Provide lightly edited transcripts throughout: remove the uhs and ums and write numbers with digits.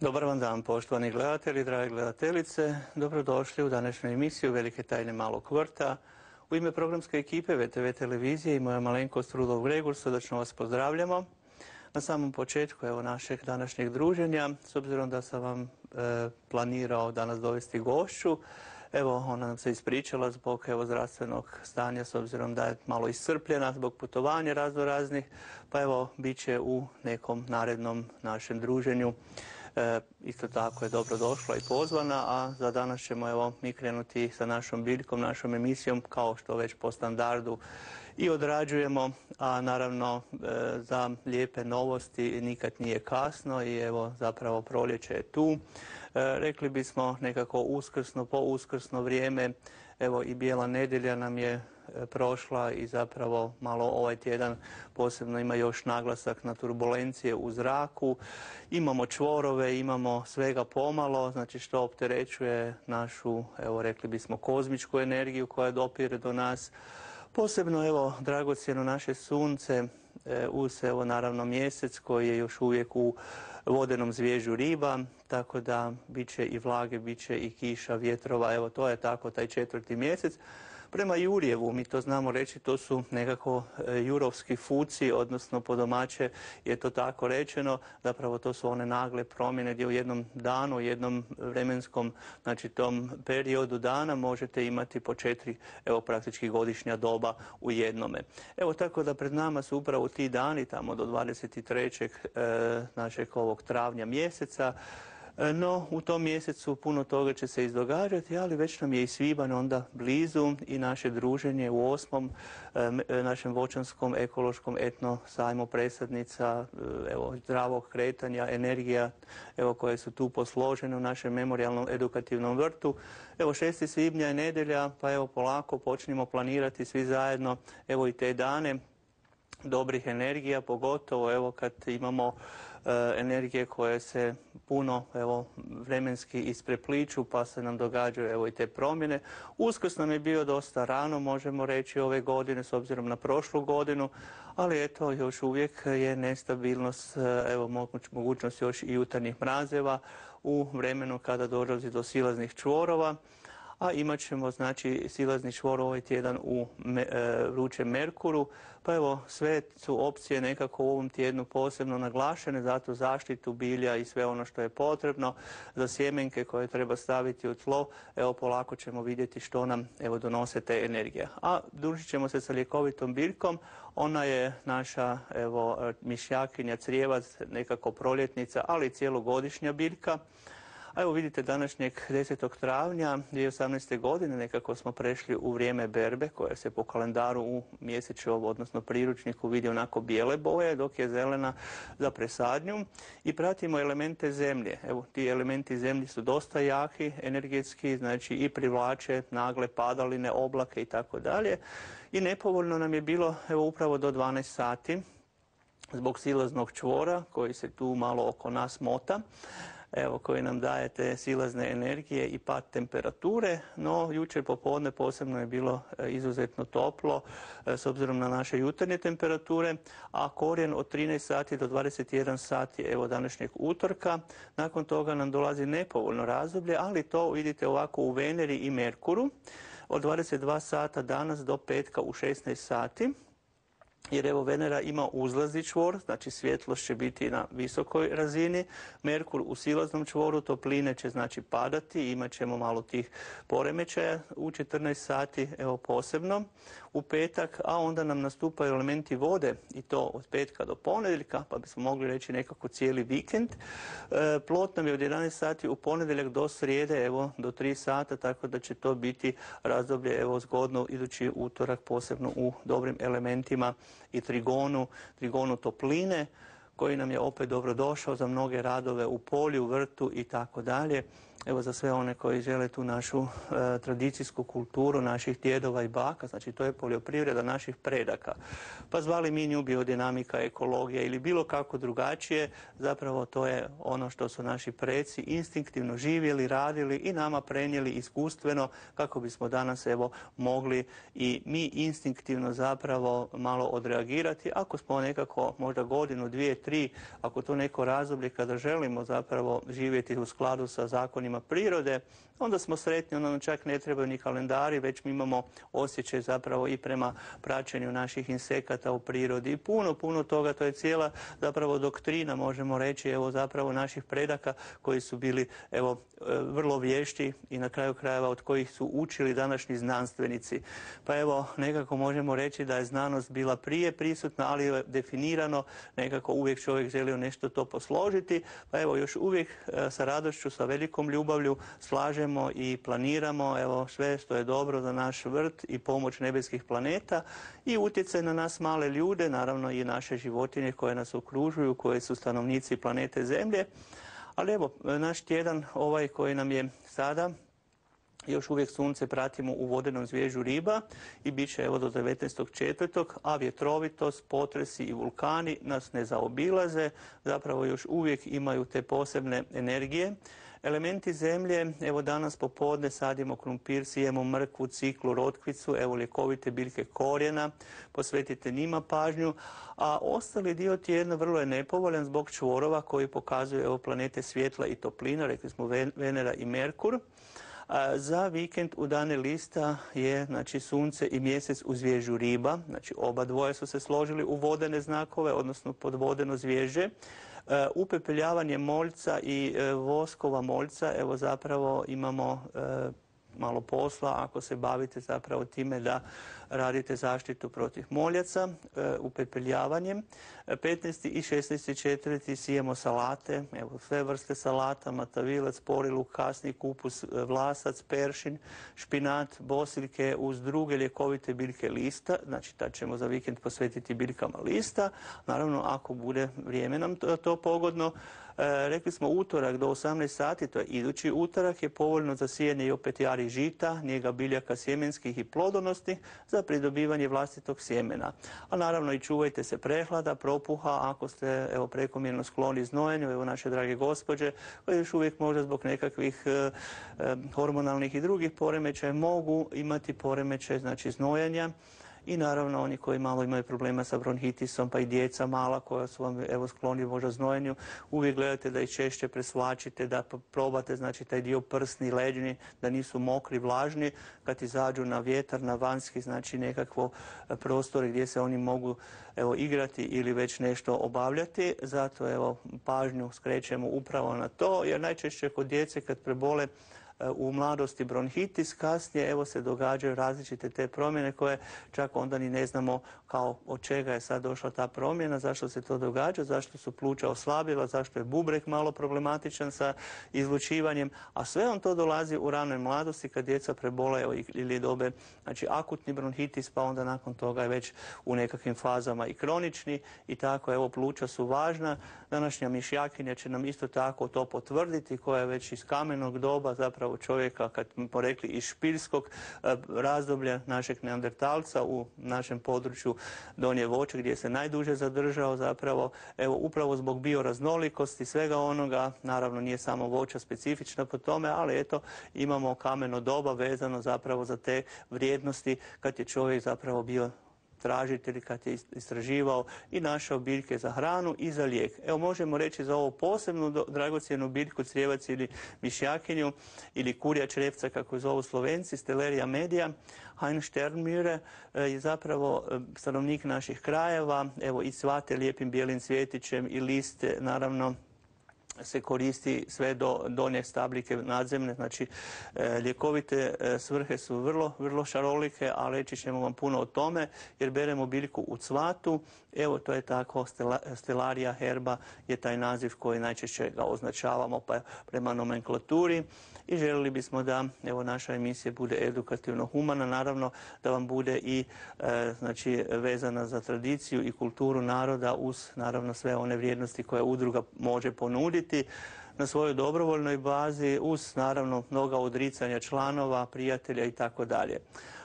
Dobar vam dan, poštovani gledatelji, drage gledateljice. Dobrodošli u današnju emisiju Velike tajne malog vrta. U ime programske ekipe VTV televizije i moja malenkost Rudolf Gregor srdačno vas pozdravljamo. Na samom početku našeg današnjeg druženja, s obzirom da sam vam planirao danas dovesti gošću, ona nam se ispričala zbog zdravstvenog stanja, s obzirom da je malo iscrpljena zbog putovanja raznih, pa bit će u nekom narednom našem druženju. Isto tako je dobro došla i pozvana, a za danas ćemo mi krenuti sa našom biljkom, našom emisijom, kao što već po standardu i odrađujemo, a naravno za lijepe novosti nikad nije kasno i zapravo proljeće je tu. Rekli bismo nekako uskrsno, po uskrsno vrijeme, i bijela nedjelja nam je prošla i zapravo malo ovaj tjedan posebno ima još naglasak na turbulencije u zraku. Imamo čvorove, imamo svega pomalo, znači što opterećuje našu, rekli bismo, kozmičku energiju koja dopire do nas. Posebno, dragocjeno naše sunce, uz naravno mjesec koji je još uvijek u vodenom zvježu riba, tako da bit će i vlage, bit će i kiša, vjetrova, to je tako taj 4. mjesec. Prema Jurjevu, mi to znamo reći, to su nekako jurovski fuci, odnosno po domaće je to tako rečeno, zapravo to su one nagle promjene gdje u jednom danu, u jednom vremenskom, znači tom periodu dana možete imati po 4, praktički godišnja doba u jednome. Tako da pred nama su upravo ti dani, tamo do 23. našeg ovog travnja mjeseca. No, u tom mjesecu puno toga će se izdogađati, ali već nam je i svibanj onda blizu i naše druženje u 8. našem voćanskom ekološkom etno sajmu presadnica, zdravog kretanja, energija, koje su tu posložene u našem memorijalnom edukativnom vrtu. 6. svibnja je nedjelja, pa polako počnimo planirati svi zajedno, i te dane dobrih energija, pogotovo kad imamo energije koje se puno vremenski isprepliču, pa se nam događaju i te promjene. Uskrs nam je bio dosta rano, možemo reći, ove godine s obzirom na prošlu godinu, ali još uvijek je nestabilnost, mogućnost još i jutarnjih mrazeva u vremenu kada dolazi do silaznih čvorova. A imat ćemo, znači, silazni čvor ovaj tjedan u vrućem Merkuru, pa sve su opcije nekako u ovom tjednu posebno naglašene, zato zaštitu bilja i sve ono što je potrebno za sjemenke koje treba staviti u tlo, polako ćemo vidjeti što nam, donose te energije. A družit ćemo se sa ljekovitom biljkom, ona je naša, mišljakinja, crijevac, nekako proljetnica, ali i cijelogodišnja biljka. A vidite, današnjeg 10. travnja 2018. godine nekako smo prešli u vrijeme berbe, koje se po kalendaru u mjesečevu, odnosno priručniku, vidi onako bijele boje, dok je zelena za presadnju. I pratimo elemente zemlje. Ti elementi zemlje su dosta jaki, energetski, znači i privlače nagle padaline, oblake i tako dalje. I nepovoljno nam je bilo upravo do 12 sati zbog silaznog čvora koji se tu malo oko nas mota, koji nam daje te silazne energije i pad temperature, no jučer popodne posebno je bilo izuzetno toplo s obzirom na naše jutarnje temperature, a korijen od 13 sati do 21 sati današnjeg utorka. Nakon toga nam dolazi nepovoljno razdoblje, ali to vidite ovako u Veneri i Merkuru od 22 sata danas do petka u 16 sati. Jer Venera ima uzlazni čvor, znači svjetlost će biti na visokoj razini, Merkur u silaznom čvoru, topline će znači padati, imat ćemo malo tih poremećaja u 14 sati, posebno u petak, a onda nam nastupaju elementi vode i to od petka do ponedjeljka, pa bismo mogli reći nekako cijeli vikend. Plot nam je od 11 sati u ponedjeljak do srijede, do 3 sata, tako da će to biti razdoblje, zgodno idući utorak, posebno u dobrim elementima i trigonu topline, koji nam je opet dobrodošao za mnoge radove u polju, vrtu i tako dalje. Za sve one koji žele tu našu tradicijsku kulturu naših djedova i baka, znači to je poljoprivreda naših predaka. Pa zvali mi nju biodinamika, ekologija ili bilo kako drugačije, zapravo to je ono što su naši preci instinktivno živjeli, radili i nama prenijeli iskustveno kako bismo danas mogli i mi instinktivno zapravo malo odreagirati ako smo nekako možda godinu, 2, 3, ako to neko razdoblje kada želimo zapravo živjeti u skladu sa zakonima prirode, onda smo sretni, onda nam čak ne trebaju ni kalendari, već mi imamo osjećaj zapravo i prema praćenju naših insekata u prirodi i puno toga, to je cijela zapravo doktrina, možemo reći, evo zapravo naših predaka koji su bili evo vrlo vješti i na kraju krajeva od kojih su učili današnji znanstvenici. Pa evo nekako možemo reći da je znanost bila prije prisutna, ali je definirano, nekako uvijek čovjek želio nešto to posložiti, pa evo još uvijek sa radošću, sa velikom ljubavlju slažemo i planiramo evo sve što je dobro za naš vrt i pomoć nebeskih planeta i utjecaj na nas male ljude, naravno i naše životinje koje nas okružuju, koje su stanovnici planete Zemlje. Ali evo, naš tjedan ovaj koji nam je sada, još uvijek sunce pratimo u vodenom zvježu Riba i bit će evo do 19.4., a vjetrovitost, potresi i vulkani nas ne zaobilaze, zapravo još uvijek imaju te posebne energije. Elementi zemlje, evo danas popodne sadimo krumpir, sijemo mrkvu, ciklu, rotkvicu, evo ljekovite biljke korijena, posvetite njima pažnju, a ostali dio tjedna vrlo je nepovoljan zbog čvorova koji pokazuju evo planete svjetla i toplina, rekli smo Venera i Merkur. Za vikend u dane lista je znači sunce i mjesec u zvježu Riba, znači oba dvoje su se složili u vodene znakove, odnosno pod vodeno zvježđe. Upepeljavanje moljca i voskova moljca, evo zapravo imamo malo posla ako se bavite zapravo time da radite zaštitu protiv moljaca upepeljavanjem. 15. i 16.4. sijemo salate, evo sve vrste salata, matavilac, pori, luk, kasni, kupus, vlasac, peršin, špinat, bosiljke uz druge ljekovite biljke lista, znači tad ćemo za vikend posvetiti biljkama lista, naravno ako bude vrijeme nam to pogodno. Rekli smo utorak do 18 sati, to je idući utorak, je povoljno za sijanje i opet jari žita, njega biljaka sjemenskih i plodonosnih za pridobivanje vlastitog sjemena. A naravno i čuvajte se prehlada, propuha, ako ste evo prekomjerno skloni znojenju, evo naše drage gospođe, koje još uvijek možda zbog nekakvih hormonalnih i drugih poremećaja mogu imati poremećaj znači znojanja. I naravno oni koji malo imaju problema sa bronhitisom, pa i djeca mala koja su vam evo skloni možda znojenju, uvijek gledate da ih češće presvlačite, da probate znači taj dio prsni, leđni, da nisu mokri, vlažni, kad izađu na vjetar, na vanjski znači nekakvo prostore gdje se oni mogu evo igrati ili već nešto obavljati. Zato evo pažnju skrećemo upravo na to, jer najčešće kod djece kad prebole u mladosti bronhitis, kasnije evo se događaju različite te promjene koje čak onda ni ne znamo kao od čega je sad došla ta promjena, zašto se to događa, zašto su pluća oslabila, zašto je bubreg malo problematičan sa izlučivanjem, a sve on to dolazi u ranoj mladosti kad djeca prebole ili dobe znači akutni bronhitis, pa onda nakon toga je već u nekakvim fazama i kronični i tako evo pluća su važna. Današnja mišjakinja će nam isto tako to potvrditi koja je već iz kamenog doba zapravo čovjeka, kad smo rekli iz špiljskog razdoblja našeg neandertalca u našem području Donje Voće gdje se najduže zadržao zapravo, evo upravo zbog bioraznolikosti svega onoga, naravno nije samo voća specifična po tome, ali eto imamo kameno doba vezano zapravo za te vrijednosti kad je čovjek zapravo bio tražitelj, kad je istraživao i našao biljke za hranu i za lijek. Evo možemo reći za ovu posebnu dragocjenu biljku, crijevac ili mišjakinju ili kurja črevca kako je zovu Slovenci, Stellaria media, Heinz Sternmüller je zapravo stanovnik naših krajeva, evo i cvate lijepim bijelim cvjetićem i liste naravno se koristi sve do donje stabljike nadzemne, znači ljekovite svrhe su vrlo šarolike, a reći ćemo vam puno o tome jer beremo biljku u cvatu, evo to je tako, Stellaria herba je taj naziv koji najčešće ga označavamo pa prema nomenklaturi i željeli bismo da evo naša emisija bude edukativno humana, naravno da vam bude i znači vezana za tradiciju i kulturu naroda uz naravno sve one vrijednosti koje udruga može ponuditi na svojoj dobrovoljnoj bazi uz naravno mnoga odricanja članova, prijatelja i tako dalje.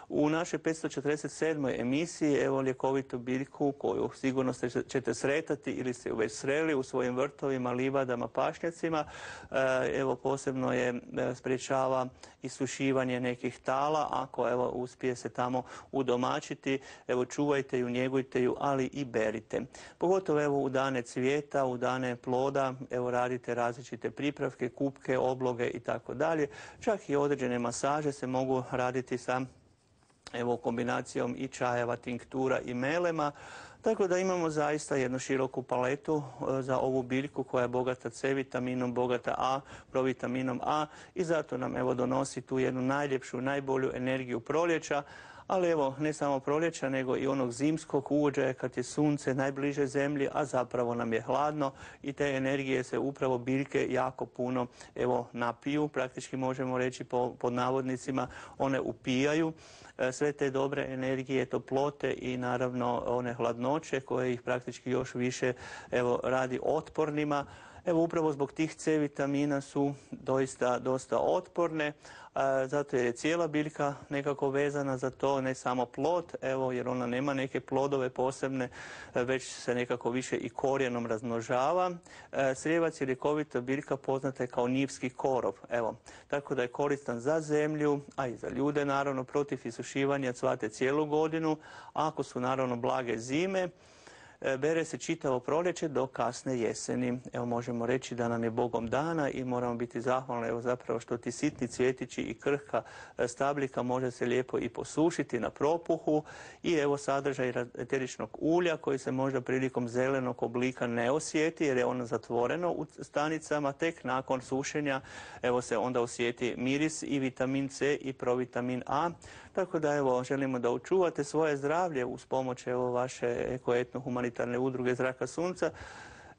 U našoj 547. emisiji evo ljekovitu biljku koju sigurno ćete sretati ili ste ju već sreli u svojim vrtovima, livadama, pašnjacima. Evo posebno je sprječava isušivanje nekih tala, ako evo uspije se tamo udomačiti, evo čuvajte ju, njegujte ju, ali i berite. Pogotovo evo u dane cvijeta, u dane ploda, evo radite različite pripravke, kupke, obloge i tako dalje. Čak i određene masaže se mogu raditi sa evo kombinacijom i čajeva, tinktura i melema. Tako da imamo zaista jednu široku paletu za ovu biljku koja je bogata C vitaminom, bogata A, provitaminom A i zato nam evo donosi tu jednu najljepšu, najbolju energiju proljeća. Ali evo, ne samo proljeća, nego i onog zimskog uvođaja kad je sunce najbliže zemlji, a zapravo nam je hladno i te energije se upravo biljke jako puno evo napiju, praktički možemo reći pod navodnicima, one upijaju sve te dobre energije, toplote i naravno one hladnoće koje ih praktički još više evo radi otpornima. Evo upravo zbog tih C vitamina su dosta otporne, zato je cijela biljka nekako vezana za to, ne samo plod, evo jer ona nema neke plodove posebne, već se nekako više i korijenom razmnožava. Srijevac je ljekovita biljka poznata je kao njivski korov, evo, tako da je koristan za zemlju, a i za ljude naravno, protiv isušivanja cvate cijelu godinu, ako su naravno blage zime. Bere se čitavo proljeće do kasne jeseni. Evo možemo reći da nam je Bogom dana i moramo biti zahvalni evo zapravo što ti sitni cvjetići i krhka stabljika može se lijepo i posušiti na propuhu i evo sadržaj eteričnog ulja koji se možda prilikom zelenog oblika ne osjeti jer je ono zatvoreno u stanicama, tek nakon sušenja evo se onda osjeti miris i vitamin C i provitamin A. Tako da evo želimo da očuvate svoje zdravlje uz pomoć evo vaše ekoetno humanitarne udruge Zraka sunca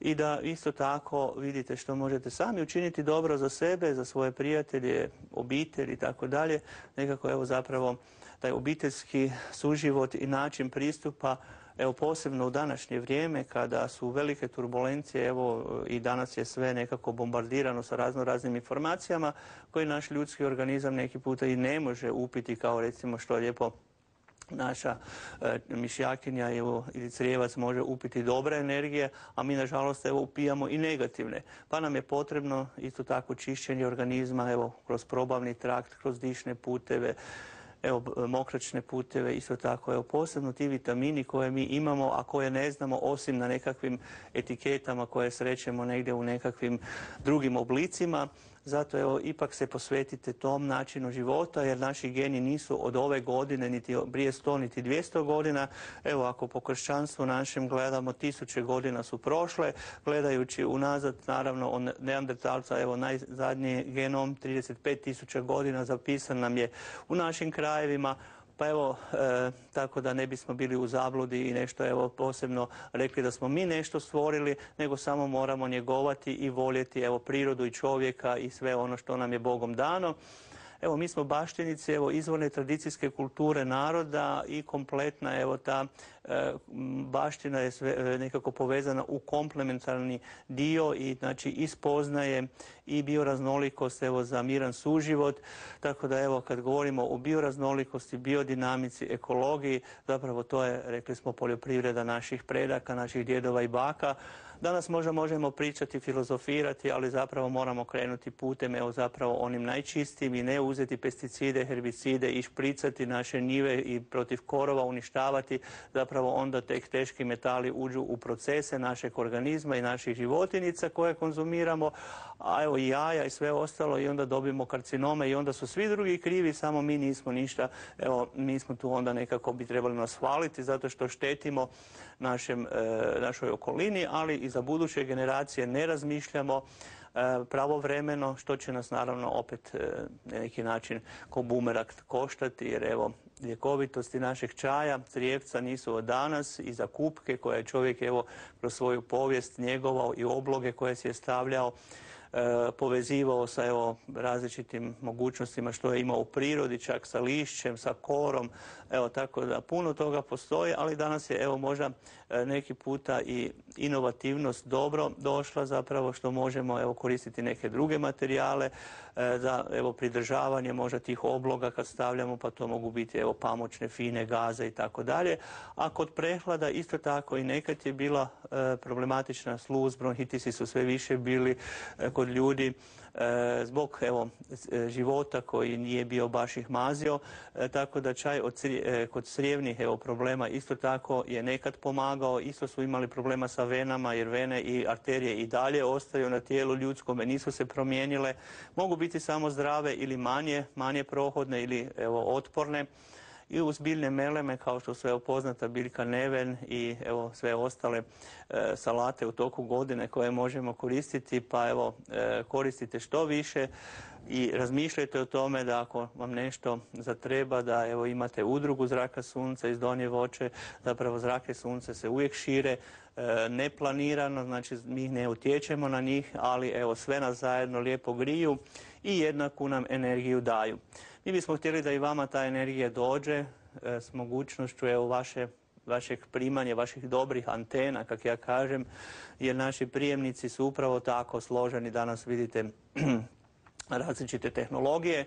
i da isto tako vidite što možete sami učiniti dobro za sebe, za svoje prijatelje, obitelj i tako dalje. Nekako evo zapravo taj obiteljski suživot i način pristupa evo posebno u današnje vrijeme kada su velike turbulencije, evo i danas je sve nekako bombardirano sa raznim informacijama koje naš ljudski organizam neki puta i ne može upiti kao recimo što lijepo naša mišjakinja ili crijevac može upiti dobre energije, a mi nažalost evo upijamo i negativne. Pa nam je potrebno isto tako čišćenje organizma evo kroz probavni trakt, kroz dišne puteve, evo mokračne puteve, isto tako evo posebno ti vitamini koje mi imamo, a koje ne znamo osim na nekakvim etiketama koje srećemo negdje u nekakvim drugim oblicima. Zato evo ipak se posvetite tom načinu života jer naši geni nisu od ove godine niti prije 100 niti 200 godina. Evo ako po kršćanstvu našem gledamo 1000 godina su prošle, gledajući unazad naravno od neandertalca evo najzadnji genom 35.000 godina zapisan nam je u našim krajevima. Pa evo, tako da ne bismo bili u zabludi i nešto evo posebno rekli da smo mi nešto stvorili, nego samo moramo njegovati i voljeti evo prirodu i čovjeka i sve ono što nam je Bogom dano. Evo mi smo baštinici evo izvorne tradicijske kulture naroda i kompletna evo ta baština je sve nekako povezana u komplementarni dio i znači ispoznaje i bioraznolikost evo za miran suživot. Tako da evo kad govorimo o bioraznolikosti, biodinamici, ekologiji, zapravo to je, rekli smo, poljoprivreda naših predaka, naših djedova i baka. Danas možda možemo pričati, filozofirati, ali zapravo moramo krenuti putem evo zapravo onim najčistijim i ne uzeti pesticide, herbicide i špricati naše njive i protiv korova uništavati. Zapravo onda tek teški metali uđu u procese našeg organizma i naših životinjica koje konzumiramo, a evo i jaja i sve ostalo i onda dobijemo karcinome i onda su svi drugi krivi, samo mi nismo ništa. Evo mi smo tu onda nekako bi trebali nas hvaliti zato što štetimo našoj okolini, ali i za buduće generacije ne razmišljamo pravovremeno, što će nas naravno opet na neki način ko bumerang koštati, jer evo ljekovitosti našeg čaja, crijevca nisu od danas i za kupke koje je čovjek evo kroz svoju povijest njegovao i obloge koje si je stavljao povezivao sa evo, različitim mogućnostima što je imao u prirodi, čak sa lišćem, sa korom, evo tako da puno toga postoji, ali danas je evo možda neki puta i inovativnost dobro došla zapravo što možemo evo koristiti neke druge materijale za evo pridržavanje možda tih obloga kad stavljamo, pa to mogu biti evo pamučne, fine gaze i tako dalje. A kod prehlada isto tako i nekad je bila problematična sluz, bronhitisi su sve više bili kod ljudi zbog evo života koji nije bio baš ih mazio, tako da čaj kod crijevnih evo problema isto tako je nekad pomagao, isto su imali problema sa venama jer vene i arterije i dalje ostaju na tijelu ljudskome, nisu se promijenile, mogu biti samo zdrave ili manje prohodne ili evo otporne. I uz biljne meleme kao što su poznata biljka neven i evo sve ostale salate u toku godine koje možemo koristiti, pa evo koristite što više i razmišljajte o tome da ako vam nešto zatreba da evo imate udrugu zraka sunca iz Donje Voće, zapravo zrake sunca se uvijek šire neplanirano, znači mi ne utječemo na njih, ali evo sve nas zajedno lijepo griju i jednaku nam energiju daju. Mi bismo htjeli da i vama ta energija dođe s mogućnošću evo vašeg primanja, vaših dobrih antena, kako ja kažem, jer naši prijemnici su upravo tako složeni. Danas vidite različite tehnologije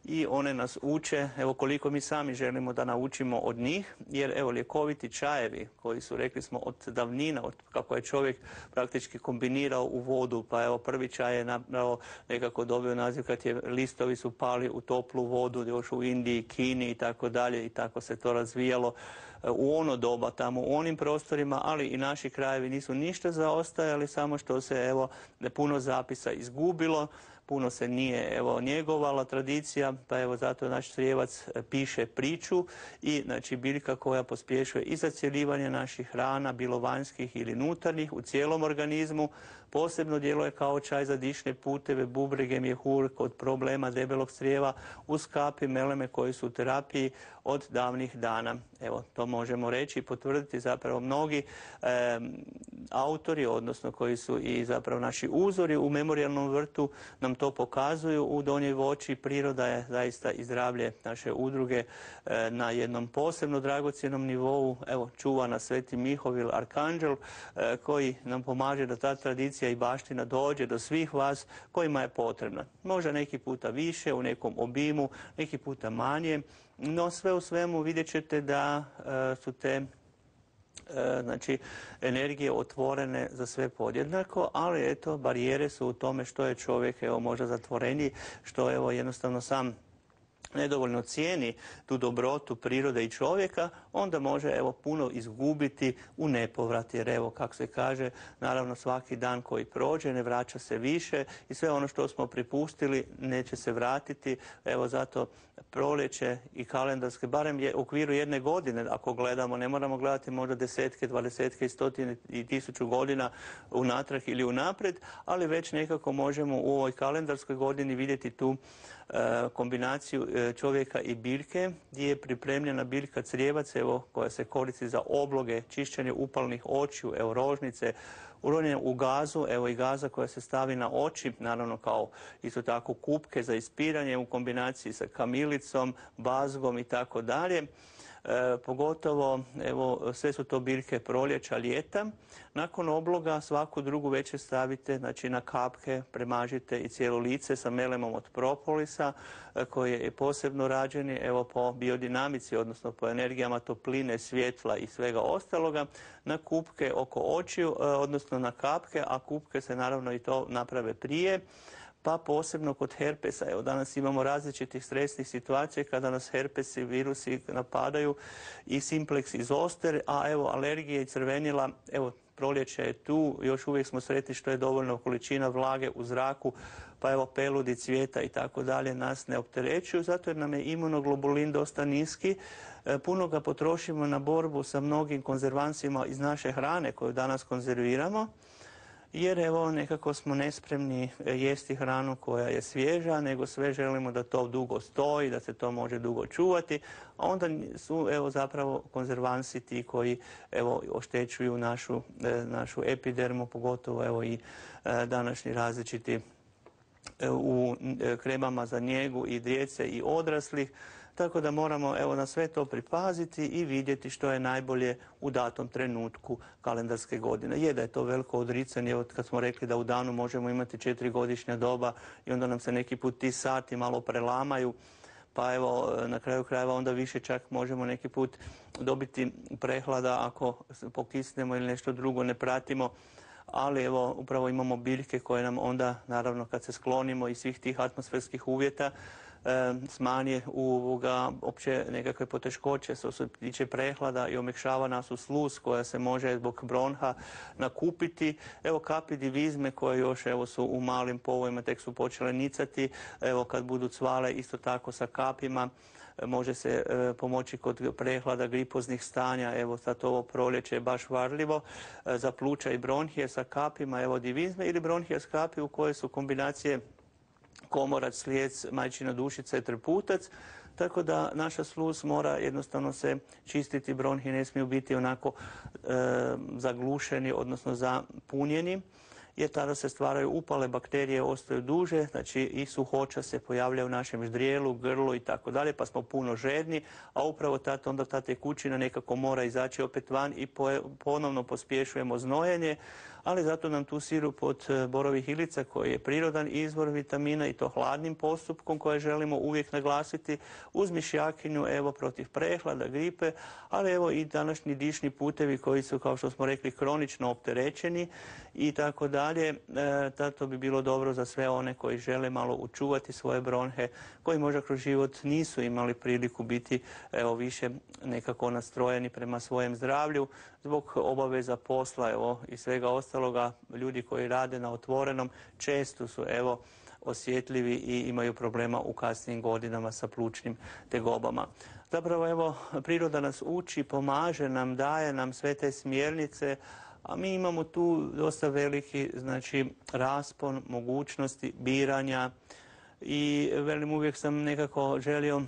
i one nas uče, evo koliko mi sami želimo da naučimo od njih, jer evo ljekoviti čajevi koji su, rekli smo, od davnina, od kako je čovjek praktički kombinirao u vodu, pa evo prvi čaj je nekako dobio naziv kad je listovi su pali u toplu vodu, još u Indiji, Kini i tako dalje i tako se to razvijalo u ono doba tamo u onim prostorima, ali i naši krajevi nisu ništa zaostajali, samo što se evo puno zapisa izgubilo, puno se nije evo njegovala tradicija, pa evo zato naš Crijevac piše priču i znači biljka koja pospješuje i zacjeljivanje naših hrana, bilo vanjskih ili unutarnjih u cijelom organizmu, posebno djeluje kao čaj za dišne puteve, bubrege, mjehur kod problema debelog crijeva, uz kapi meleme koji su u terapiji od davnih dana. Evo, to možemo reći i potvrditi zapravo mnogi autori, odnosno koji su i zapravo naši uzori u memorijalnom vrtu nam to pokazuju u Donjoj Voći. Priroda je zaista i zdravlje naše udruge na jednom posebno dragocjenom nivou. Evo, čuva nas Sveti Mihovil, arkanđel, koji nam pomaže da ta tradicija i baština dođe do svih vas kojima je potrebna. Možda neki puta više, u nekom obimu, neki puta manje, no sve u svemu vidjet ćete da su te znači energije otvorene za sve podjednako, ali eto barijere su u tome što je čovjek evo možda zatvoreniji, što evo jednostavno sam nedovoljno cijeni tu dobrotu prirode i čovjeka, onda može evo puno izgubiti u nepovrat, jer evo kako se kaže, naravno svaki dan koji prođe ne vraća se više i sve ono što smo pripustili neće se vratiti. Evo zato proljeće i kalendarske, barem je u okviru jedne godine ako gledamo, ne moramo gledati možda desetke, dvadesetke i stotine i tisuću godina unatrag ili unaprijed, ali već nekako možemo u ovoj kalendarskoj godini vidjeti tu kombinaciju čovjeka i biljke, gdje je pripremljena biljka crijevac, evo, koja se koristi za obloge, čišćenje upalnih očiju, evo rožnice, uronjenje u gazu, evo i gaza koja se stavi na oči, naravno kao isto tako kupke za ispiranje u kombinaciji sa kamilicom, bazgom i tako dalje. Pogotovo, evo, sve su to biljke proljeća, ljeta. Nakon obloga svaku drugu večer stavite, znači na kapke, premažite i cijelo lice sa melemom od propolisa, koji je posebno rađeni, evo, po biodinamici, odnosno po energijama topline, svjetla i svega ostaloga, na kupke oko očiju, odnosno na kapke, a kupke se naravno i to naprave prije. Pa posebno kod herpesa. Evo danas imamo različitih stresnih situacija kada nas herpesi, virusi napadaju i simplex i zoster, a evo alergije i crvenila, evo proljeće je tu, još uvijek smo sretni što je dovoljno količina vlage u zraku, pa evo peludi, cvijeta i tako dalje nas ne opterećuju, zato jer nam je imunoglobulin dosta niski. Puno ga potrošimo na borbu sa mnogim konzervansima iz naše hrane koju danas konzerviramo, jer evo nekako smo nespremni jesti hranu koja je svježa, nego sve želimo da to dugo stoji, da se to može dugo čuvati, a onda su evo zapravo konzervansi ti koji evo oštećuju našu epidermu, pogotovo evo i današnji različiti u kremama za njegu i djece i odraslih. Tako da moramo na sve to pripaziti i vidjeti što je najbolje u datom trenutku kalendarske godine. Je da je to veliko odricanje, evo kad smo rekli da u danu možemo imati 4-godišnja doba i onda nam se neki put ti sati malo prelamaju, pa evo na kraju krajeva onda više čak možemo neki put dobiti prehlada ako pokisnemo ili nešto drugo ne pratimo. Ali evo upravo imamo biljke koje nam onda, naravno kad se sklonimo iz svih tih atmosferskih uvjeta, smanje opće nekakve poteškoće što se tiče prehlada i omekšava nas u sluz koja se može zbog bronha nakupiti. Evo kapi divizme koje još su u malim povojima, tek su počele nicati. Evo kad budu cvale isto tako sa kapima. Može se pomoći kod prehlada, gripoznih stanja, evo sad ovo proljeće je baš varljivo, za pluća i bronhije sa kapima, evo divizme ili bronhije s kapi u koje su kombinacije komorac, slijec, majčina dušica i trputac, tako da naša sluz mora jednostavno se čistiti, bronhi ne smiju biti onako zaglušeni, odnosno zapunjeni, jer tada se stvaraju upale, bakterije ostaju duže, znači i suhoća se pojavlja u našem ždrijelu, grlu i tako dalje, pa smo puno žedni, a upravo onda ta tekućina nekako mora izaći opet van i ponovno pospješujemo znojenje, ali zato nam tu sirup od borovih ilica koji je prirodan izvor vitamina i to hladnim postupkom koje želimo uvijek naglasiti uz mišjakinju protiv prehlada, gripe, ali evo i današnji dišni putevi koji su, kao što smo rekli, kronično opterećeni i tako dalje. Zato bi bilo dobro za sve one koji žele malo učuvati svoje bronhe, koji možda kroz život nisu imali priliku biti više nekako nastrojeni prema svojem zdravlju zbog obaveza posla i svega ostaloga. Ljudi koji rade na otvorenom često su osjetljivi i imaju problema u kasnijim godinama sa plućnim tegobama. Zapravo priroda nas uči, pomaže nam, daje nam sve te smjernice, a mi imamo tu dosta veliki raspon mogućnosti biranja i uvijek sam nekako želio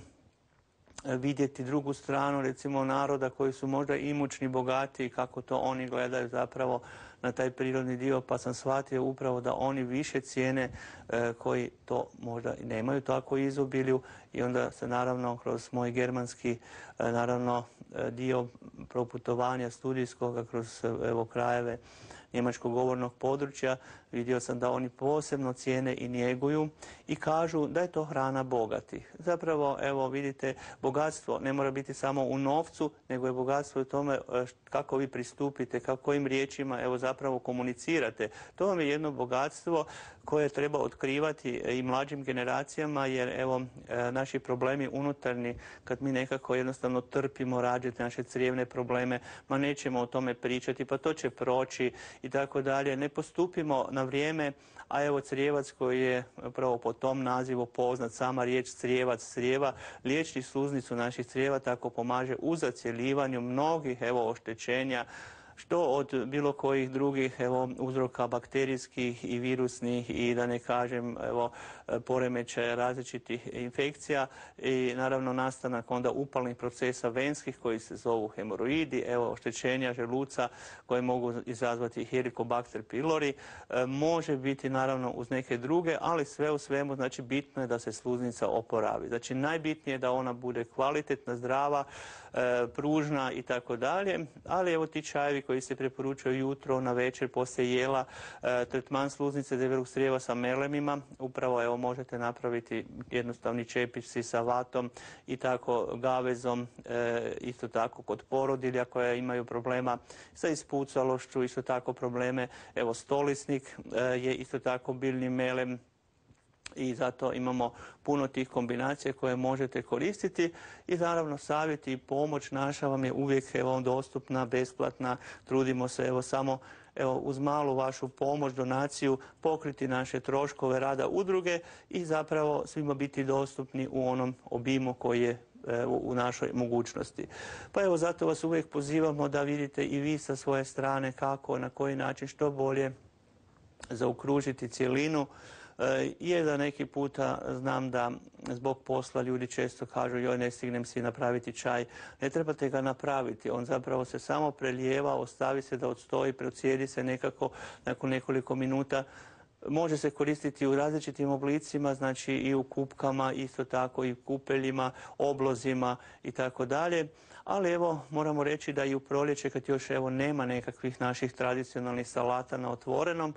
vidjeti drugu stranu, recimo naroda koji su možda imućni, bogati, kako to oni gledaju zapravo na taj prirodni dio, pa sam shvatio upravo da oni više cijene koji to možda i nemaju tako izobilju i onda se naravno kroz moj germanski dio proputovanja studijskoga kroz krajeve njemačkog govornog područja vidio sam da oni posebno cijene i njeguju i kažu da je to hrana bogatih. Zapravo, vidite, bogatstvo ne mora biti samo u novcu, nego je bogatstvo u tome kako vi pristupite, kojim riječima zapravo komunicirate. To vam je jedno bogatstvo koje treba otkrivati i mlađim generacijama, jer naši problemi unutarnji, kad mi nekako jednostavno trpimo rađati naše crijevne probleme, ma nećemo o tome pričati, pa to će proći i tako dalje. Ne postupimo na vrijeme, a crijevac koji je upravo po tom nazivu poznat, sama riječ crijevac, crijeva, liječi sluznicu naših crijeva, tako pomaže u zacjeljivanju mnogih oštećenja, što od bilo kojih drugih uzroka bakterijskih i virusnih i da ne kažem poremećaja različitih infekcija i naravno nastanak onda upalnih procesa venskih koji se zovu hemoroidi, oštećenja želuca koje mogu izazvati Helicobacter pylori, može biti naravno uz neke druge, ali sve u svemu bitno je da se sluznica oporavi. Znači najbitnije je da ona bude kvalitetna, zdrava, pružna i tako dalje, ali ti čajevi koji se preporučuju jutro, na večer, poslije jela, tretman sluznice debelog crijeva sa melemima, upravo možete napraviti jednostavni čepići sa vatom i tako gavezom, isto tako kod porodilja koja imaju problema sa ispucalošću, isto tako probleme, stolisnik je isto tako biljni melem, i zato imamo puno tih kombinacija koje možete koristiti i naravno savjet i pomoć naša vam je uvijek dostupna, besplatna. Trudimo se samo uz malu vašu pomoć, donaciju pokriti naše troškove rada udruge i zapravo svima biti dostupni u onom obimu koji je u našoj mogućnosti. Pa zato vas uvijek pozivamo da vidite i vi sa svoje strane kako, na koji način, što bolje zaokružiti cjelinu. Je da neki puta znam da zbog posla ljudi često kažu joj ne stignem si napraviti čaj. Ne trebate ga napraviti, on zapravo se samo prelijeva, ostavi se da odstoji, procijedi se nekako nakon nekoliko minuta. Može se koristiti u različitim oblicima, znači i u kupkama, isto tako i u kupeljima, oblozima i tako dalje. Ali evo, moramo reći da i u proljeće, kad još evo nema nekakvih naših tradicionalnih salata na otvorenom,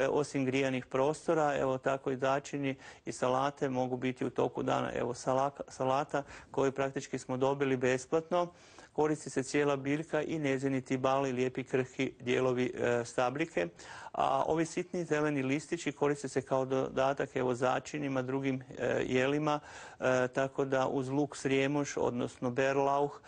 osim grijanih prostora, evo tako i začini i salate mogu biti u toku dana. Evo salata koju praktički smo dobili besplatno, koristi se cijela biljka i njezini tibali, lijepi krhki dijelovi stabljike. A ovi sitni zeleni listići koriste se kao dodatak evo začinima, drugim jelima, tako da uz luk srijemoš, odnosno berlauh,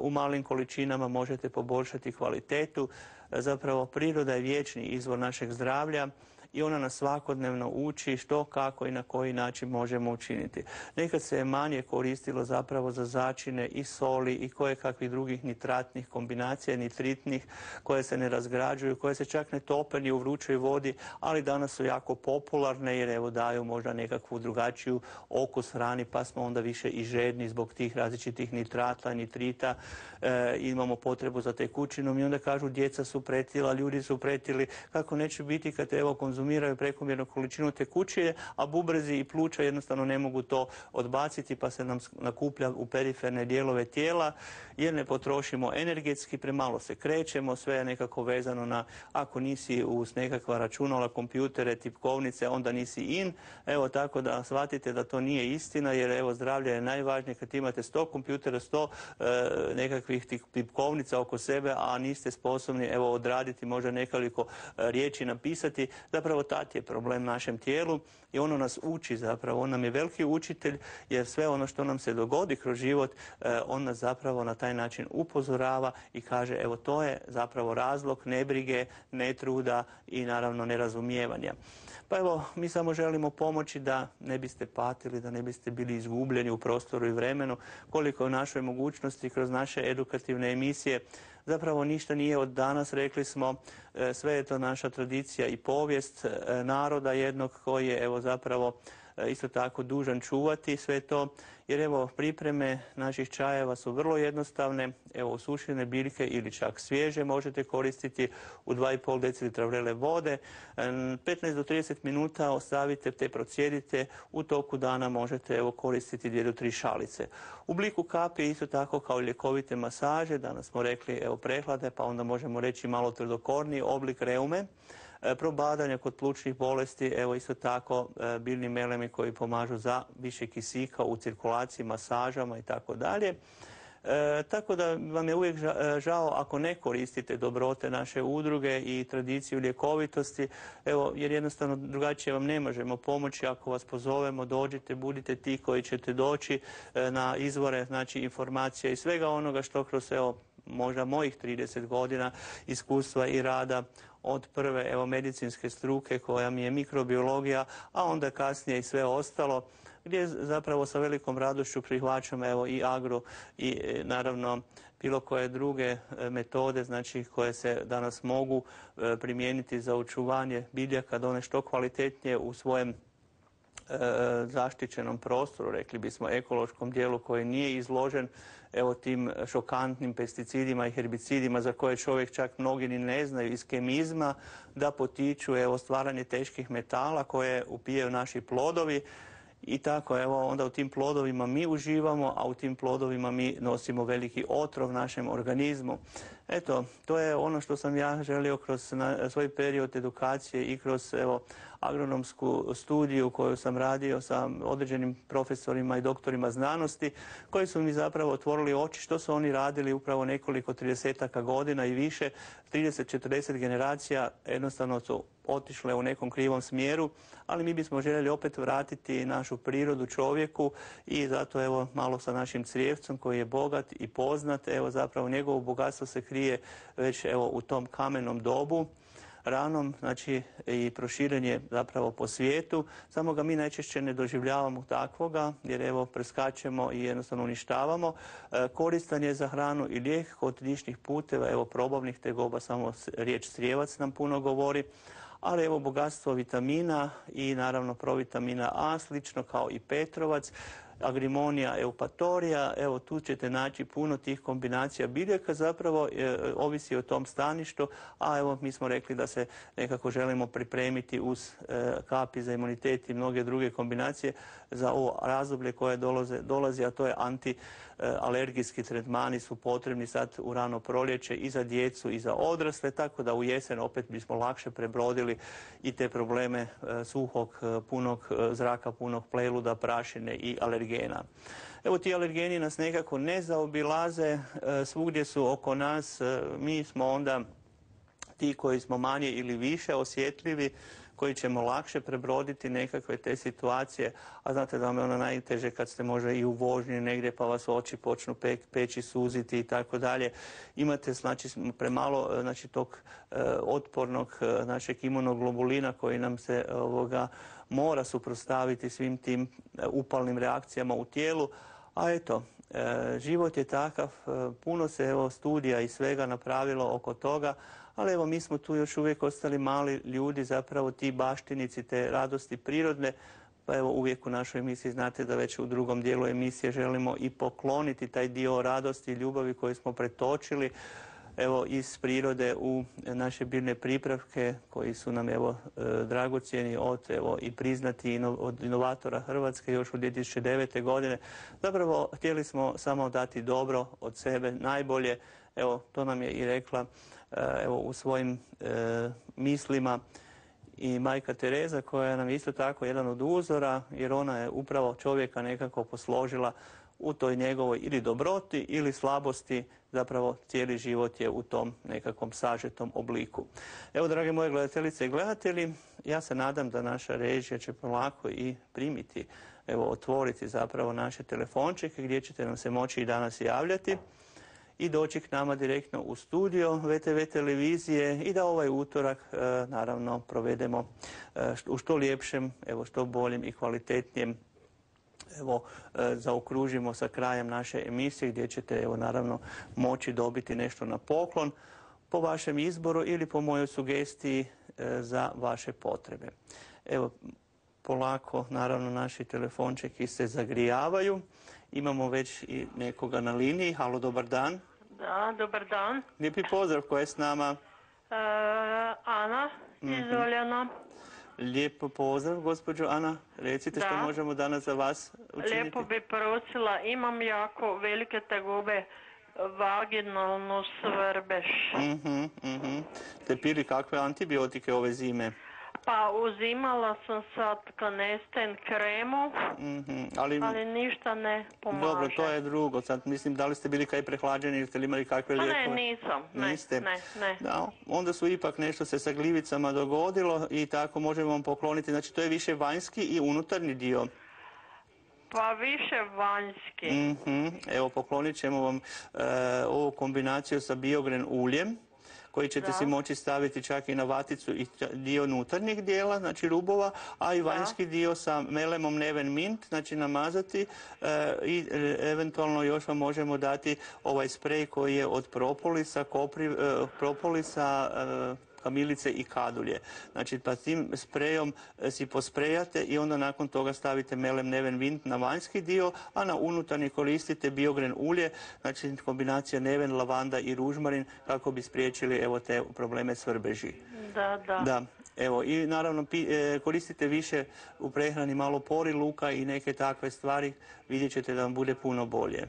u malim količinama možete poboljšati kvalitetu. Zapravo priroda je vječni izvor našeg zdravlja i ona nas svakodnevno uči što, kako i na koji način možemo učiniti. Nekad se je manje koristilo zapravo za začine i soli i kojekakvih drugih nitratnih kombinacija, nitritnih, koje se ne razgrađuju, koje se čak ne tope ni u vrućoj vodi, ali danas su jako popularne jer evo daju možda nekakvu drugačiju okus hrani, pa smo onda više i žedni zbog tih različitih nitrata, nitrita, imamo potrebu za tekućinom i onda kažu djeca su pretila, ljudi su pretili, kako neće biti kad evo konzumiraju prekomjernu količinu tekućine, a bubrezi i pluća jednostavno ne mogu to odbaciti pa se nam nakuplja u periferne dijelove tijela jer ne potrošimo energetski, premalo se krećemo, sve je nekako vezano na ako nisi uz nekakva računala, kompjutere, tipkovnice, onda nisi in. Evo tako da shvatite da to nije istina jer evo zdravlje je najvažnije kad imate 100 kompjutera, 100 nekakvih tipkovnica oko sebe, a niste sposobni evo odraditi možda nekoliko riječi napisati. Zapravo tat je problem našem tijelu i ono nas uči zapravo, on nam je veliki učitelj jer sve ono što nam se dogodi kroz život, on nas zapravo na taj način upozorava i kaže evo to je zapravo razlog nebrige, netruda i naravno nerazumijevanja. Pa evo, mi samo želimo pomoći da ne biste patili, da ne biste bili izgubljeni u prostoru i vremenu, koliko je u našoj mogućnosti kroz naše edukativne emisije. Zapravo ništa nije od danas, rekli smo, sve je to naša tradicija i povijest naroda jednog koji je evo zapravo isto tako dužan čuvati sve to, jer evo pripreme naših čajeva su vrlo jednostavne, evo osušene biljke ili čak svježe možete koristiti u 2,5 decilitra vrele vode, 15 do 30 minuta ostavite te procijedite, u toku dana možete evo koristiti 2 do 3 šalice. U obliku kapi isto tako kao ljekovite masaže, danas smo rekli evo prehlade, pa onda možemo reći malo tvrdokorniji oblik reume, probadanja kod plućnih bolesti, evo isto tako biljni melemi koji pomažu za više kisika u cirkulaciji, masažama i tako dalje. Tako da vam je uvijek žao ako ne koristite dobrote naše udruge i tradiciju ljekovitosti, evo, jer jednostavno drugačije vam ne možemo pomoći. Ako vas pozovemo, dođite, budite ti koji ćete doći na izvore, znači informacija i svega onoga što kroz evo možda mojih 30 godina iskustva i rada od prve evo medicinske struke koja mi je mikrobiologija, a onda kasnije i sve ostalo, gdje zapravo sa velikom radošću prihvaćam evo i agro i naravno bilo koje druge metode, znači koje se danas mogu primijeniti za očuvanje biljaka da one što kvalitetnije u svojem zaštićenom prostoru, rekli bismo ekološkom dijelu koji nije izložen evo tim šokantnim pesticidima i herbicidima za koje čovjek čak mnogi ni ne znaju iz kemizma da potiču evo stvaranje teških metala koje upijaju naši plodovi. I tako, evo, onda u tim plodovima mi uživamo, a u tim plodovima mi nosimo veliki otrov našem organizmu. Eto, to je ono što sam ja želio kroz svoj period edukacije i kroz, evo, agronomsku studiju koju sam radio sa određenim profesorima i doktorima znanosti, koji su mi zapravo otvorili oči što su oni radili upravo nekoliko 30-aka godina i više, 30-40 generacija jednostavno su otišle u nekom krivom smjeru, ali mi bismo željeli opet vratiti našu prirodu čovjeku i zato evo malo sa našim crijevcom koji je bogat i poznat, evo zapravo njegovo bogatstvo se krije već evo u tom kamenom dobu, ranom, znači i proširen je zapravo po svijetu, samo ga mi najčešće ne doživljavamo takvoga jer evo preskačemo i jednostavno uništavamo. Koristan je za hranu i lijek kod dišnih puteva, evo probavnih tegoba, samo riječ crijevac nam puno govori, ali evo bogatstvo vitamina i naravno provitamina A, slično kao i petrovac. Agrimonija eupatorija, evo tu ćete naći puno tih kombinacija biljaka, zapravo ovisi o tom staništu, a evo mi smo rekli da se nekako želimo pripremiti uz kapi za imunitet i mnoge druge kombinacije za ovo razdoblje koje dolazi, a to je antialergijski tretmani su potrebni sad u rano proljeće i za djecu i za odrasle, tako da u jesen opet bismo lakše prebrodili i te probleme suhog, punog zraka, punog pleluda, prašine i alergena. Evo ti alergeni nas nekako ne zaobilaze, svugdje su oko nas, mi smo onda ti koji smo manje ili više osjetljivi, koji ćemo lakše prebroditi nekakve te situacije, a znate da vam je ono najteže kad ste možda i u vožnji negdje pa vas oči počnu peći, suziti i tako dalje. Imate znači premalo znači tog otpornog našeg imunoglobulina koji nam se mora suprotstaviti svim tim upalnim reakcijama u tijelu, a eto, život je takav, puno se studija i svega napravilo oko toga, ali evo mi smo tu još uvijek ostali mali ljudi, zapravo ti baštinici te radosti prirodne, pa evo uvijek u našoj emisiji znate da već u drugom dijelu emisije želimo i pokloniti taj dio radosti i ljubavi koju smo pretočili evo iz prirode u naše biljne pripravke koji su nam evo dragocjeni i priznati od inovatora Hrvatske još u 2009. godine. Zapravo htjeli smo samo dati dobro od sebe, najbolje, evo to nam je i rekla u svojim mislima i majka Tereza koja nam je isto tako jedan od uzora jer ona je upravo čovjeka nekako posložila u toj njegovoj ili dobroti ili slabosti, zapravo cijeli život je u tom nekakvom sažetom obliku. Evo, drage moje gledateljice i gledatelji, ja se nadam da naša režija će polako i primiti, otvoriti zapravo naše telefončike gdje ćete nam se moći i danas javljati i doći k nama direktno u studio VTV televizije i da ovaj utorak naravno provedemo u što ljepšem, što boljem i kvalitetnijem zaokružimo sa krajem naše emisije gdje ćete naravno moći dobiti nešto na poklon po vašem izboru ili po mojoj sugestiji za vaše potrebe. Evo, polako naravno naši telefončeki se zagrijavaju. Imamo već i nekoga na liniji. Halo, dobar dan. Da, dobar dan. Lijepi pozdrav, ko je s nama? Ana iz Oljana. Lijepo pozdrav, gospođo Ana. Recite što možemo danas za vas učiniti. Lijepo bi prosila, imam jako velike tegobe, vaginalnu svrbež. Ste pili kakve antibiotike ove zime? Pa uzimala sam sad Canesten kremu, ali ništa ne pomaže. Dobro, to je drugo. Sad mislim, da li ste bili kaj prehlađeni ili ste li imali kakve lijekove? Ne, nisam. Niste? Ne. Da, onda su ipak nešto se sa gljivicama dogodilo i tako možemo vam pokloniti. Znači, to je više vanjski i unutarnji dio. Pa više vanjski. Evo, poklonit ćemo vam ovu kombinaciju sa biogren uljem, koji ćete si moći staviti čak i na vaticu i dio unutarnjeg dijela, znači rubova, a i vanjski dio sa melemom Neven Mint, znači namazati i eventualno još vam možemo dati ovaj sprej koji je od propolisa, kamilice i kadulje. Znači, pa tim sprejom si posprejate i onda nakon toga stavite melem Neven Mint na vanjski dio, a na unutarnji koristite biogren ulje, znači kombinacija neven, lavanda i ružmarin kako bi spriječili te probleme svrbeži. Da. Evo, i naravno koristite više u prehrani malo pori, luka i neke takve stvari, vidjet ćete da vam bude puno bolje.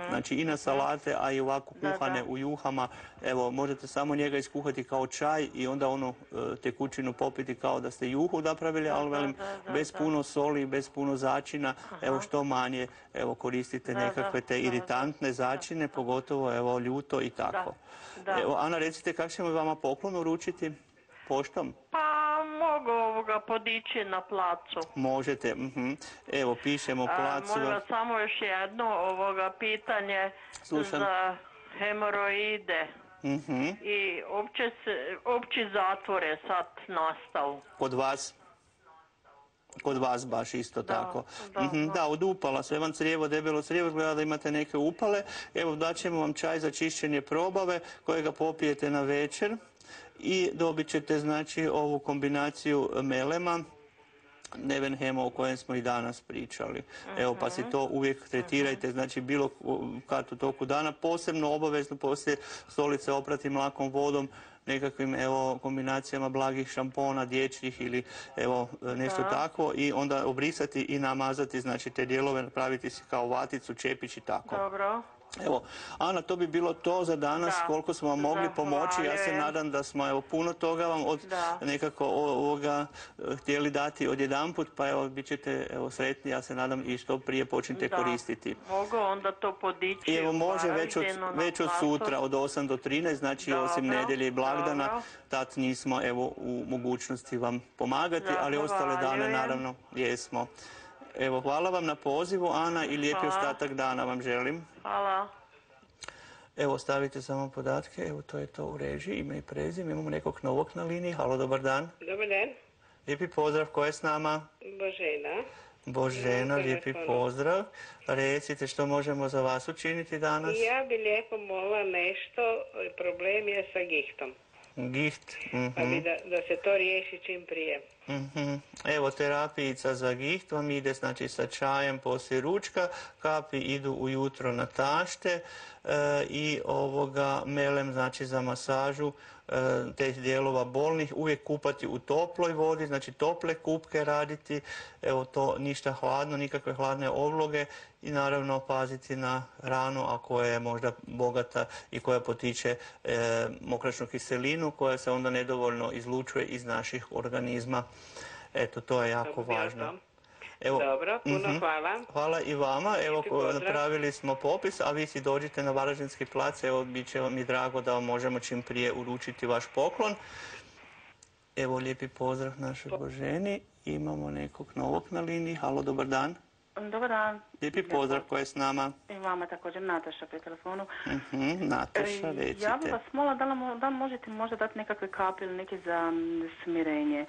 Znači i na salate, a i ovako kuhane u juhama. Evo, možete samo njega iskuhati kao čaj i onda onu tekućinu popiti kao da ste juhu napravili, ali velim, bez puno soli, bez puno začina. Evo, što manje koristite nekakve te iritantne začine, pogotovo ljuto i tako. Evo, Ana, recite kako ćemo vama poklon uručiti? Poštom? Pa mogu podići na placu. Možete. Evo, pišemo placu. Molim vas samo još jedno pitanje. Slušam. Za hemoroide. I opći zatvor je sad nastao. Kod vas? Kod vas baš isto tako. Da, od upala, sve vam crijevo, debelo crijevo, gleda da imate neke upale. Evo, daćemo vam čaj za čišćenje probave kojega popijete na večer i dobit ćete znači ovu kombinaciju melema Nevenhema o kojem smo i danas pričali. Evo, pa si to uvijek tretirajte, znači bilo kad u toku dana, posebno obavezno poslije stolice oprati mlakom vodom, nekakvim kombinacijama blagih šampona, dječjih ili nešto takvo i onda obrisati i namazati, znači te dijelove napraviti si kao vaticu, čepić i tako. Dobro. Evo, Ana, to bi bilo to za danas, koliko smo vam mogli pomoći. Ja se nadam da smo puno toga vam nekako ovoga htjeli dati odjedanput, pa evo, bit ćete sretni, ja se nadam i što prije počnite koristiti. Mogu onda to podići. Evo, može već od sutra, od 8 do 13, znači osim nedjelje i blagdana, tad nismo u mogućnosti vam pomagati, ali ostale dane naravno jesmo. Evo, hvala vam na pozivu, Ana, i lijepi ostatak dana vam želim. Hvala. Evo, stavite samo podatke, evo, to je to u režiji, ime i prezime, imamo nekog novog na liniji. Halo, dobar dan. Dobar dan. Lijepi pozdrav, ko je s nama? Božena. Božena, lijepi pozdrav. Recite, što možemo za vas učiniti danas? Ja bi lijepo molila nešto, problem je sa gihtom. Giht. Pa bi da se to riješi čim prije. Evo, terapijica za giht vam ide, znači sa čajem poslije ručka, kapi idu ujutro na tašte i melem, znači za masažu teh dijelova bolnih, uvijek kupati u toploj vodi, znači tople kupke raditi, evo to ništa hladno, nikakve hladne obloge i naravno paziti na hranu, a koja je možda bogata i koja potiče mokračnu kiselinu koja se onda nedovoljno izlučuje iz naših organizma. Eto, to je jako važno. Evo, dobro, puno hvala. Hvala i vama. Evo, napravili smo popis, a vi si dođite na Varaždinski plac. Evo, bit će mi drago da vam možemo čim prije uručiti vaš poklon. Evo, lijepi pozdrav našoj Boženi. Imamo nekog novog na liniji. Halo, dobar dan. Dobar dan. Lijepi pozdrav, ko je s nama? I vama također, Nataša pri telefonu. Nataša, recite. Ja bih vas molila da možete možda dati nekakve kapi ili neke za smirenje.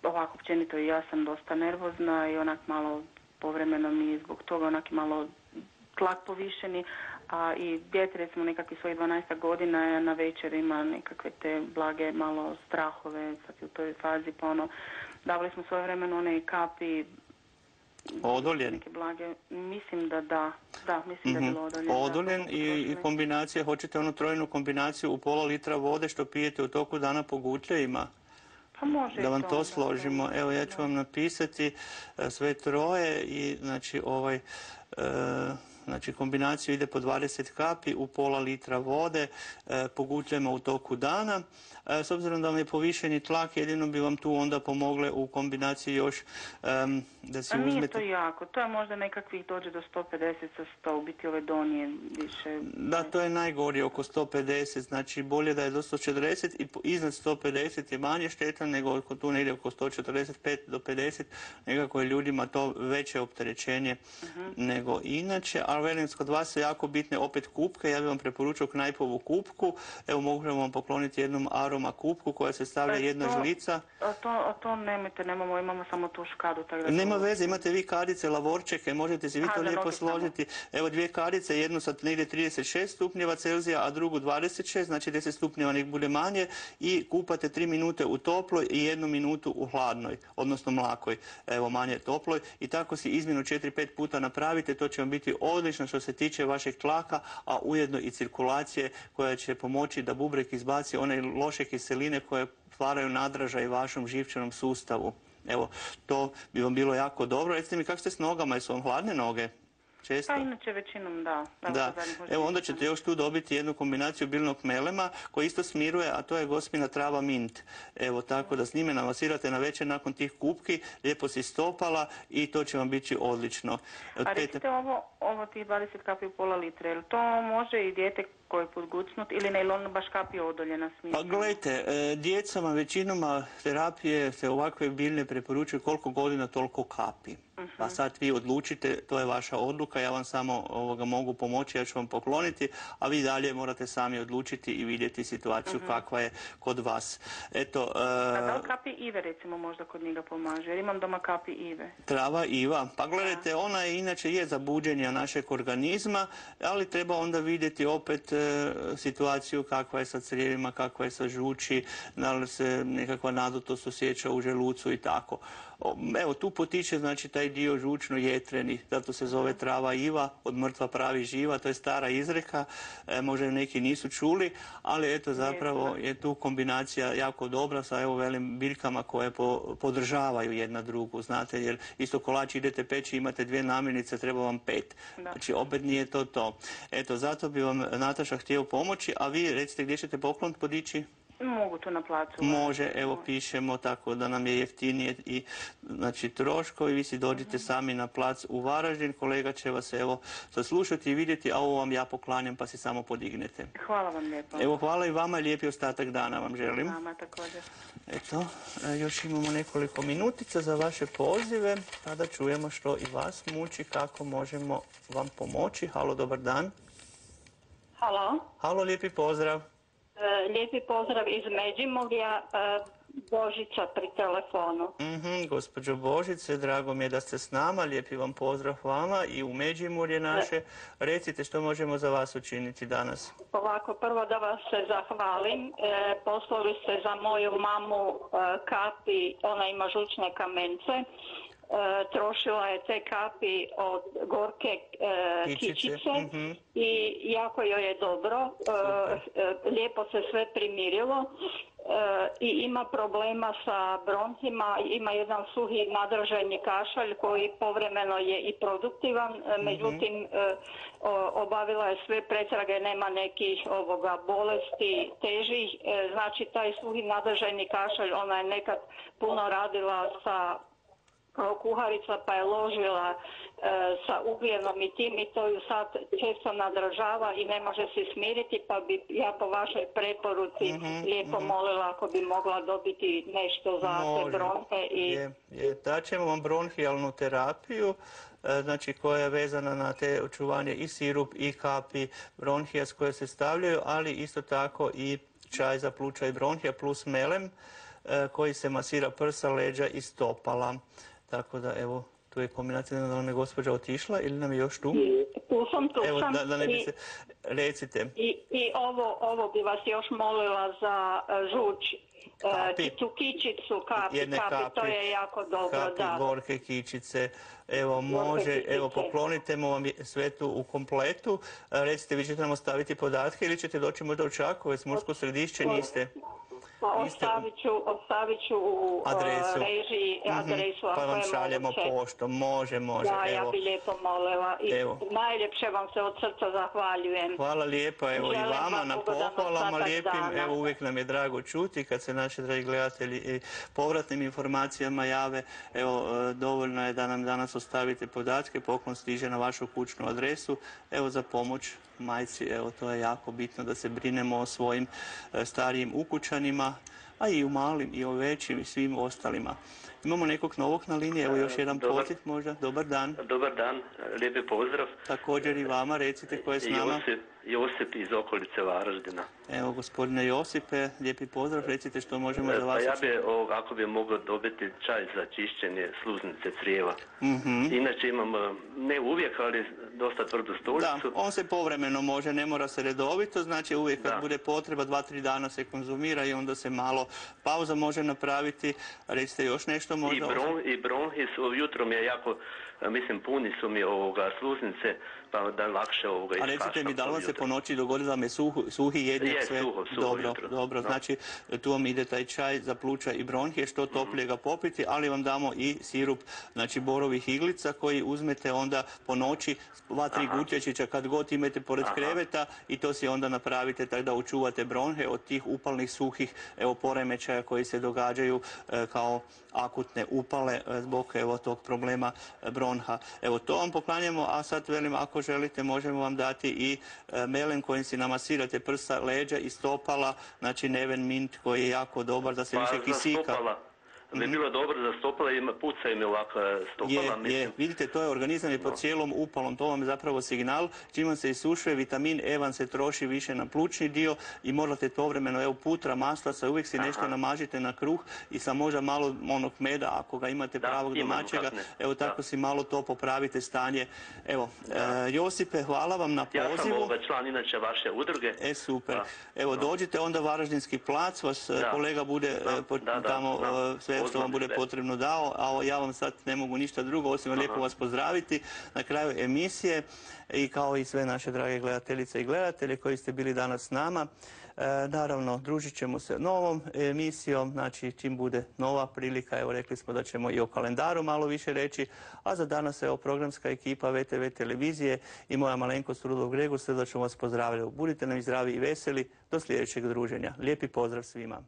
Ovako, općenito, ja sam dosta nervozna i onak malo povremeno mi je zbog toga onak malo tlak povišeni, a i dijete recimo nekakvih svojih 12 godina na večer ima nekakve te blage malo strahove, sad je u toj fazi, pa davali smo svoje vremeno one kapi. Odoljen? Neke blage, mislim da mislim da je bilo odoljen. Odoljen i kombinacija, hoćete onu trojnu kombinaciju u pola litra vode što pijete u toku dana po gutljevima? Pa može. Da vam to složimo. Evo, ja ću vam napisati sve troje i znači kombinaciju ide po 20 kapi u pola litra vode po gutljama u toku dana. S obzirom da vam je povišeni tlak, jedino bi vam tu onda pomogle u kombinaciji još da si uzmete... Nije to jako, to je možda nekakvih dođe do 150 sa 100, u biti ove donije više... Da, to je najgori, oko 150, znači bolje da je do 140 i iznad 150 je manje štetan nego tu negdje oko 145 do 50, nekako je ljudima to veće opterećenje nego inače, ali velim, kod vas su jako bitne opet kupke, ja bih vam preporučio knajpovu kupku, evo možemo vam pokloniti jednom aroma kupku koja se stavlja jedna žlica. A to nemojte, imamo samo tu škadu. Nema veze, imate vi kadice, lavorčeke, možete si vi to lijepo složiti. Evo 2 kadice, jednu sa negdje 36 stupnjeva Celzija, a drugu 26, znači 10 stupnjeva nek bude manje i kupate 3 minute u toploj i 1 minutu u hladnoj, odnosno mlakoj, evo manje toploj i tako si izmjenu 4-5 puta napravite, to će vam biti odlično što se tiče vašeg tlaka, a ujedno i cirkulacije koja će pomoći da bubreg izbaci one loše kiseline koje stvaraju nadražaj vašem živčanom sustavu. Evo, to bi vam bilo jako dobro. Recite mi, kako ste s nogama? Jesu vam hladne noge? Često? Pa inače većinom da. Evo onda ćete još tu dobiti jednu kombinaciju biljnog melema koji isto smiruje, a to je gospina trava mint. Evo tako da s njime namasirate na večer nakon tih kupki, lijepo si stopala i to će vam biti odlično. A recite ovo tih 20 kapi u pola litre, je li to može i dijete koje je podgucnut ili ne, ili ono baš kapi odoljena smisla? Pa gledajte, djecama većinom terapije se ovakve biljne preporučuju koliko godina toliko kapi. Pa sad vi odlučite, to je vaša odluka, ja vam samo mogu pomoći, ja ću vam pokloniti, a vi dalje morate sami odlučiti i vidjeti situaciju kakva je kod vas. Eto, a da li kapi ive recimo možda kod njega pomaže? Jer imam doma kapi ive. Trava iva. Pa gledajte, ona inače je za buđenje našeg organizma, ali treba onda vidjeti opet situaciju kakva je sa crijevima, kakva je sa žuči, da li se nekakva nadutost osjeća u želucu i tako. Evo, tu potiče znači taj dio žučno-jetreni, zato se zove trava iva, od mrtva pravi živa, to je stara izreka, možda neki nisu čuli, ali eto zapravo je tu kombinacija jako dobra sa evo velim biljkama koje podržavaju jedna drugu, znate, jer isto kolač idete peći, imate 2 namirnice, treba vam 5. Znači opet nije to to. Eto, zato bi vam Nataša htio pomoći, a vi recite gdje ćete poklon podići? Mogu tu na placu. Može, evo pišemo tako da nam je jeftinije i znači troškovi, vi si dođite sami na plac u Varaždin, kolega će vas evo saslušati i vidjeti, a ovo vam ja poklanjam pa si samo podignete. Hvala vam lijepo. Evo hvala i vama, lijepi ostatak dana vam želim. Vama također. Eto, još imamo nekoliko minutica za vaše pozive, pa da čujemo što i vas muči, kako možemo vam pomoći. Halo, dobar dan. Halo. Halo, lijepi pozdrav. Lijepi pozdrav iz Međimurja, Božica pri telefonu. Gospođo Božice, drago mi je da ste s nama, lijepi vam pozdrav vama i u Međimurje naše. Recite što možemo za vas učiniti danas. Ovako, prvo da vas se zahvalim. Poslali ste za moju mamu kapi, ona ima žučne kamence. Trošila je te kapi od gorke kičice i jako joj je dobro, lijepo se sve primirilo i ima problema sa bronhima, ima jedan suhi nadržajni kašalj koji povremeno je i produktivan, međutim obavila je sve pretrage, nema nekih bolesti težih, znači taj suhi nadržajni kašalj, ona je nekad puno radila kao kuharica pa je ložila sa ugljenom i tim i to ju sad često nadražava i ne može se smiriti, pa bi ja po vašoj preporuci lijepo molila ako bi mogla dobiti nešto za te bronhe. Daćemo vam bronhijalnu terapiju, znači koja je vezana na te očuvanje i sirup i kapi bronhija s koje se stavljaju, ali isto tako i čaj za pluća i bronhija plus melem koji se masira prsa, leđa i stopala. Tako da, evo, tu je kombinacija, da nam je gospođa otišla ili nam je još tu? Tu sam. Evo, da ne bi se... Recite. I ovo bi vas još molila za žuč. Tu kičicu, kapi, to je jako dobro, kapi, gorke kičice, evo može, evo poklonitemo vam sve tu u kompletu. Recite, vi ćete nam ostaviti podatke ili ćete doći možda u Čakovec, Mursko Središće, niste? Ostavit ću u režiji adresu. Pa vam šaljemo poštom, može. Da, ja bi lijepo molila i najljepše vam se od srca zahvaljujem. Hvala lijepo, evo i vama na pohvalama lijepim, evo uvijek nam je drago čuti kad se naši dragi gledatelji i povratnim informacijama jave, evo dovoljno je da nam danas ostavite podatke, poklon stiže na vašu kućnu adresu, evo za pomoć majci, evo to je jako bitno da se brinemo o svojim starijim ukućanima, a i u malim i o većim i svim ostalima. Imamo nekog novog na liniji, evo još jedan poziv možda. Dobar dan. Dobar dan, lijepi pozdrav. Također i vama, recite ko je s nama. Josip iz okolice Varaždina. Evo, gospodine Josipe, lijepi pozdrav, recite što možemo za vas. Pa ja bi, ako bi mogao dobiti čaj za čišćenje sluznice crijeva. Inače imam, ne uvijek, ali dosta tvrdu stolicu. Da, on se povremeno može, ne mora se redovito, znači uvijek kad bude potreba 2-3 dana se konzumira i onda se malo pauza može napraviti. Recite još nešto možda? I bronhi su, jutro mi je jako, mislim, puni su mi sluznice, pa da lakše iskašam. A recite mi, da li vam se po noći dogodi da vam je suhi jednjak sve? Suho dobro, znači tu vam ide taj čaj za pluća i bronhije, što toplije ga popiti, ali vam damo i sirup, znači borovih iglica koji uzmete onda po noći, 2-3 gutječića kad god imate pored kreveta i to si onda napravite tako da očuvate bronhe od tih upalnih suhih poremećaja koji se događaju kao akutne upale zbog tog problema bronha. Evo to vam poklanjamo, a sad velim ako želite možemo vam dati i melem kojim si namasirate prsa, leđa i stopala, znači Neven Mint koji je jako dobar da se više kisika. bi bilo dobro za stopala i puca im je ovakva stopala. Vidite, to je organizam je pod cijelom upalom, to vam je zapravo signal. Čim vam se isušuje, vitamin E vam se troši više na plućni dio i morate povremeno, putra, maslaca, uvijek si nešto namažite na kruh i sa možda malo onog meda, ako ga imate pravog domaćega, tako si malo to popravite stanje. Josipe, hvala vam na pozivu. Ja sam član inače vaše udruge. Super. Dođite onda Varaždinski plac, vas kolega bude tamo sve sve što vam bude potrebno dao, a ja vam sad ne mogu ništa drugo osim lijepo vas pozdraviti na kraju emisije i kao i sve naše drage gledateljice i gledatelje koji ste bili danas s nama. Naravno, družit ćemo se novom emisijom, znači čim bude nova prilika, evo rekli smo da ćemo i o kalendaru malo više reći, a za danas evo programska ekipa VTV televizije i moja malenkost Rudolf Gregor srdačno vas pozdravljaju. Budite nam zdravi i veseli, do sljedećeg druženja. Lijepi pozdrav svima.